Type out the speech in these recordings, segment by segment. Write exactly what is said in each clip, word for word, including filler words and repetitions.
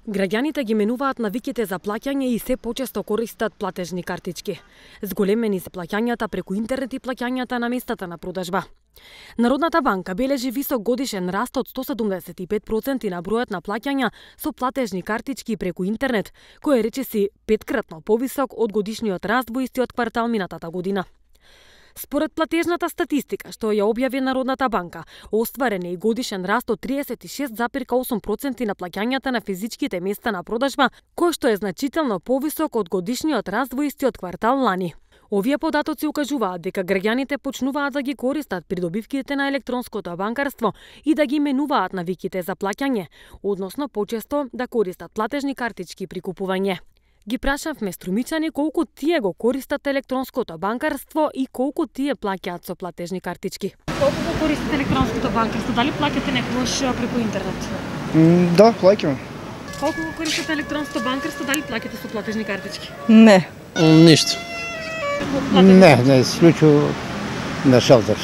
Граѓаните ги менуваат навиките за плаќање и се почесто користат платежни картички. Зголемени се плаќањата преку интернет и плаќањата на местата на продажба. Народната банка бележи висок годишен раст од сто седумдесет и пет проценти на бројот на плаќања со платежни картички преку интернет, кој е речиси петкратно повисок од годишниот раст во истиот квартал минатата година. Според платежната статистика, што ја објави Народната банка, остварен е и годишен раст од триесет и шест запир осум проценти на плаќањата на физичките места на продажба, кој што е значително повисок од годишниот раст во истиот квартал лани. Овие податоци укажуваат дека граѓаните почнуваат да ги користат придобивките на електронското банкарство и да ги менуваат навиките за плаќање, односно почесто да користат платежни картички при купување. Ги прашавме струмичани колку тие го користат електронското банкарство и колку тие плаќаат со платежни картички. Колку го користите електронското банкарство? Дали плаќате некогаш преку интернет? Mm, да, плаќам. Колку го користите електронското банкарство? Дали плаќате со платежни картички? Не. Ништо. Не, не, исклучу на шелтер.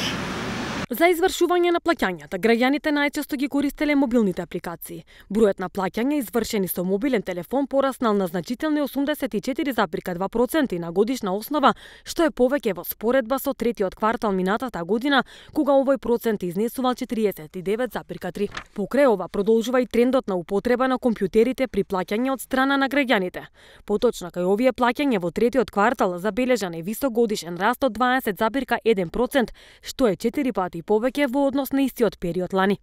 За извршување на плаќањата, граѓаните најчесто ги користеле мобилните апликации. Бројот на плаќања извршени со мобилен телефон пораснал на значителни осумдесет и четири запир два проценти на годишна основа, што е повеќе во споредба со третиот квартал минатата година, кога овој процент изнесувал четириесет и девет запир три. Покрај ова продолжува и трендот на употреба на компјутерите при плаќање од страна на граѓаните. Поточно кај овие плаќања во третиот квартал забележан е висок годишен раст од дваесет запир еден процент, што е четири пати и повеќе во однос на истиот период лани.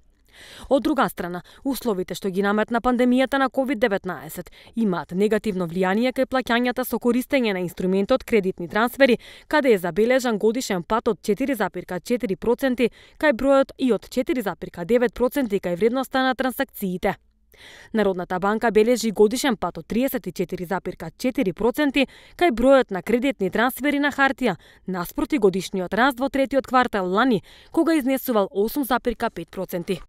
Од друга страна, условите што ги наметна пандемијата на ковид деветнаесет имаат негативно влијание кај плаќањата со користење на инструментот кредитни трансфери, каде е забележан годишен пат од четири запир четири проценти кај бројот и од четири запир девет проценти кај вредноста на трансакциите. Народната банка бележи годишен пат од триесет и четири запир четири проценти кај бројот на кредитни трансфери на хартија, наспроти годишниот раст во третиот квартал лани, кога изнесувал осум запир пет проценти.